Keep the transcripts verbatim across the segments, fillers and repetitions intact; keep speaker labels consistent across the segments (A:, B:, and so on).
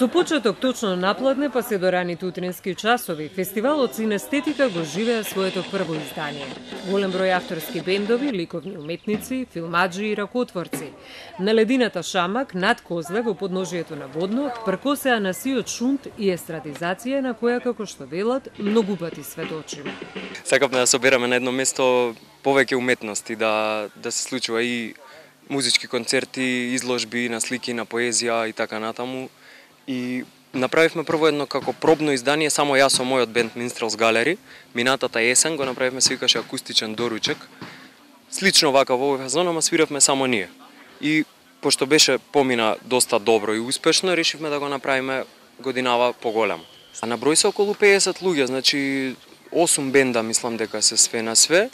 A: Со почеток точно напладне па се до раните утрински часови, фестивалот Синестетика го живеа своето прво издание. Голем број авторски бендови, ликовни уметници, филмаджи и ракотворци. На ледината Шамак, над Козле, во подножието на Водно, пркосеа на сиот шунт и естрадизација на која, како што велат, многу пати сведочиме.
B: Сакавме да собераме на едно место повеќе уметности, да, да се случува и музички концерти, изложби на слики, на поезија и така натаму. И направивме прво едно како пробно издание, само јас со мојот бенд Minstrels Gallery. Минатата есен го направивме, се викаше акустичен доручек. Слично вака во овој фазон, ама свиравме само ние. И пошто беше помина доста добро и успешно, решивме да го направиме годинава поголемо. А на број се околу педесет луѓе, значи осум бенда мислам дека се све на све.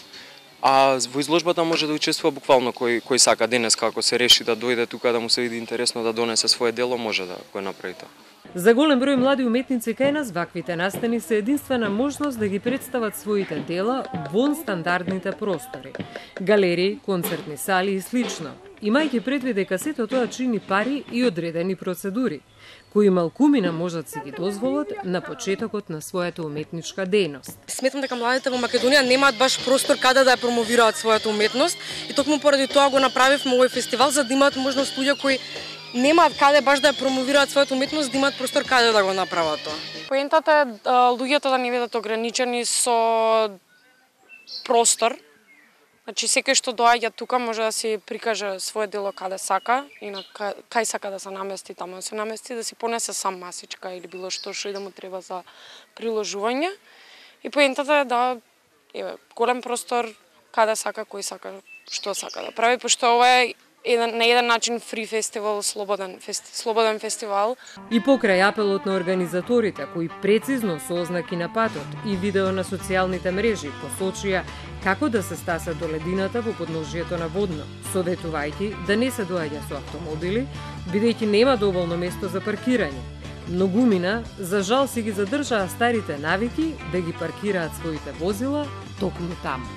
B: А во изложбата може да учествува буквално кој кој сака денес, како се реши да дојде тука да му се види интересно да донесе свое дело, може да го направи тоа.
A: За голем број млади уметници кај нас ваквите настани се единствена можност да ги представат своите дела вон стандардните простори, галерии, концертни сали и слично, имајќи предвид дека сето тоа чини пари и одредени процедури, кои малкумина можат си ги дозволат на почетокот на својата уметничка дејност.
C: Сметам дека младите во Македонија немаат баш простор каде да ја промовираат својата уметност и токму поради тоа го направивме овој фестивал за да имаат можност луѓе кои немаат каде баш да ја промовираат својата уметност, да имаат простор каде да го направат тоа.
D: Поентата е луѓето да не бидат ограничени со простор. Значи секој што доаѓа тука може да си прикаже свое дело каде сака и на кај сака да се намести, таму да се намести, да си понесе сам масичка или било што што и да му треба за приложување. И поентата е да еве голем простор каде сака, кој сака, што сака да прави, пошто ова е еден, на еден начин фри фестивал, слободен, фести, слободен фестивал.
A: И покрај апелот на организаторите, кои прецизно со ознаки на патот и видео на социјалните мрежи посочија како да се стаса до ледината во подножието на Водно, советувајќи да не се доаѓа со автомобили, бидејќи нема доволно место за паркирање. Многумина, за жал, си ги задржаа старите навики да ги паркираат своите возила токму таму.